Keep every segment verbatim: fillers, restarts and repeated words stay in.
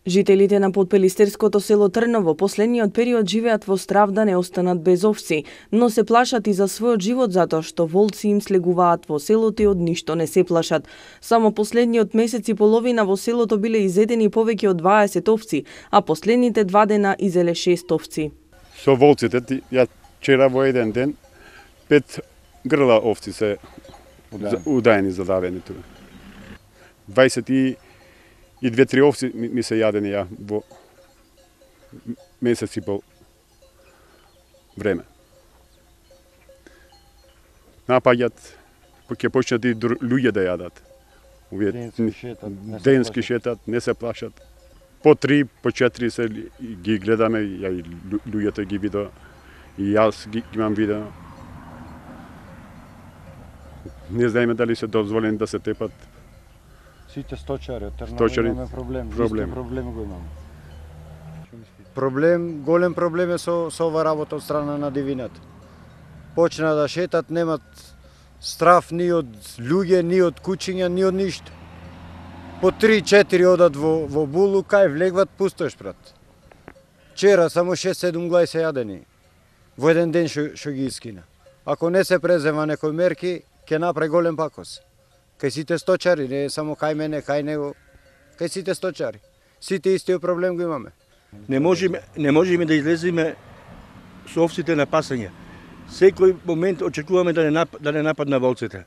Жителите на подпелистерското село Трново последниот период живеат во страв да не останат без овци, но се плашат и за својот живот затоа што волци им слегуваат во селото и од ништо не се плашат. Само последниот месец и половина во селото биле изедени повеќе од дваесет овци, а последните два дена изеле шест овци. Со волците, ја вчера во еден ден, пет грла овци се удаени, задавени тука. дваесет и И две-три овци ми се јадени ја во месец и пол време. Напаѓат, ќе почнат и луѓе да јадат. Денски шетат, не се Денски плашат. шетат, не се плашат. По три, по четири се ги гледаме, ја и луѓето ги видо, и јас ги имам видео. Не знаеме дали се дозволени да се тепат. Сите сточари од Трново Сточари, имаме проблем. проблем. Исто проблем го имаме. Проблем, голем проблем е со, со ова работа од страна на дивината. Почна да шетат, немат страф ни од луѓе, ни од кучиња, ни од ништо. По три-четири одат во, во булу, кај влегват, пустош, брат. Вчера само шест-седум глај се јадени. Во еден ден што, што ги искина. Ако не се презема некој мерки, ќе направи голем пакос. Кај сите сточари, не само кај мене, кај него, кај сите сточари. Сите истиот проблем го имаме. Не можеме, не можеме да излеземе со овците на пасање. Секој момент очекуваме да не, нап, да не нападна волците.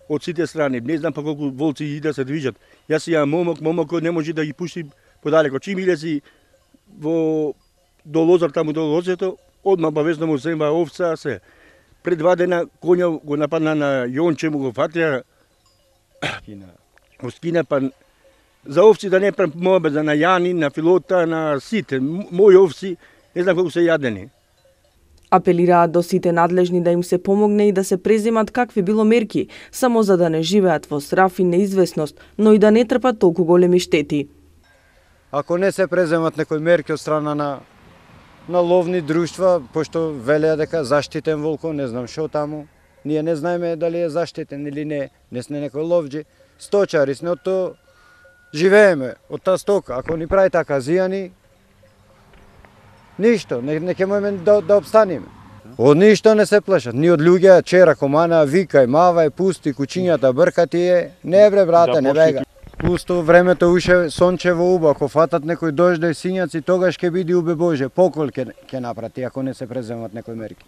Од сите страни. Не знам па колку волци и да се движат. Јас имам момок, момокот не може да ги пушти подалеко. Чим илези во до лозар таму до лозето, одма бавезно му зема овца, се. Пред два дена коња го нападна на Јонче, му го фатија, Оскина, па за овци да не правам мобеза на Јани, на Филота, на сите. Мои овци, не знам колку се јадени. Апелираат до сите надлежни да им се помогне и да се преземат какви било мерки, само за да не живеат во страф и неизвестност, но и да не трпат толку големи штети. Ако не се преземат некои мерки од страна на на ловни друштва, пошто велеа дека заштитен волко, не знам што таму. Ние не знаеме дали е заштитен или не, не сме некој ловџи. Сточари сме, од тоа живееме, од таа стока. Ако ни прави така зијани, ништо, не, не ќе можеме да, да обстанеме. Од ништо не се плашат, ни од луѓе, чера, комана, викај, мавај, пусти, кучињата, бркати е, не бре, брате, не бега. Пусто времето уше сончево уба, ако фатат некој дожде и сињаци, тогаш ќе биде убе Боже, покол ќе, ќе напрати, ако не се преземат некои мерки.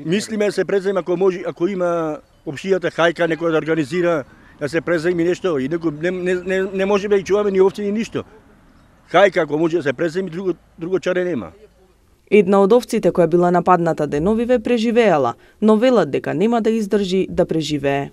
Мислиме да се презема ако може, ако има општијата хајка некој да организира да се преземи нешто и некој не, не, не, не може да ги чуваме ни овци ни ништо. Хајка ако може да се преземи, друго друго чаре нема. Една од овците која била нападната деновиве преживеала, но велат дека нема да издржи да преживее.